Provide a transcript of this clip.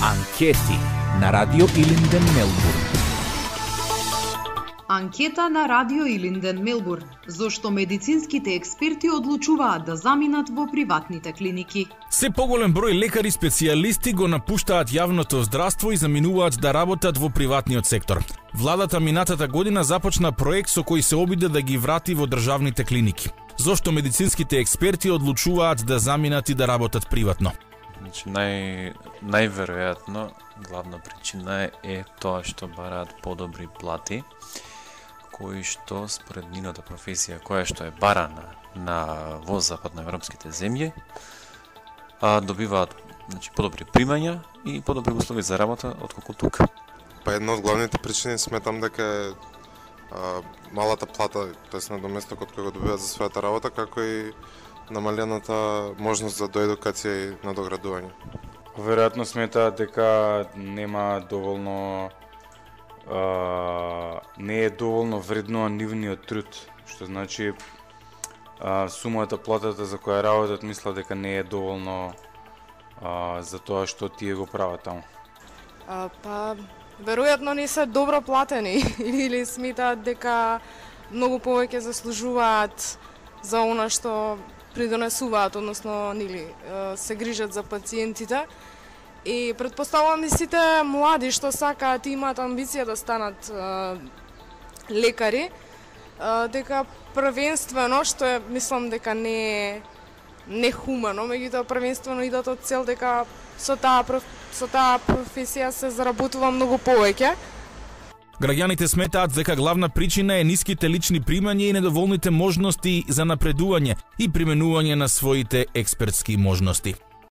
Анкети на Радио Илинден, Мелбурн. Анкета на Радио Илинден, Мелбурн. Зошто медицинските експерти одлучуваат да заминат во приватните клиники? Се поголем број лекари специјалисти го напуштаат јавното здравство и заминуваат да работат во приватниот сектор. Владата минатата година започна проект со кој се обиде да ги врати во државните клиники. Зошто медицинските експерти одлучуваат да заминат и да работат приватно? Значи, најверојатно главна причина е тоа што бараат подобри плати, кои што според нивната професија, која што е барана во западноевропските земји, добиваат подобри примања и подобри услови за работа отколку тука. Па една од главните причини сметам дека е малата плата, тоест надоместокот кој го добиваат за својата работа, како и намалената можност за доедукација и надоградување. Веројатно сметаат дека нема доволно не е доволно вреднуван нивниот труд, што значи сумата платата за која работат мислат дека не е доволно за тоа што тие го прават таму. Па веројатно не се добро платени или сметаат дека многу повеќе заслужуваат за она што придонесуваат, односно се грижат за пациентите. И претпоставувам и сите млади што сакаат и имаат амбиција да станат лекари, дека првенствено, што е, мислам дека не е нехумано, меѓутоа првенствено идат од цел дека со таа професија се заработува многу повеќе. Граѓаните сметаат дека главна причина е ниските лични примања и недоволните можности за напредување и применување на своите експертски можности.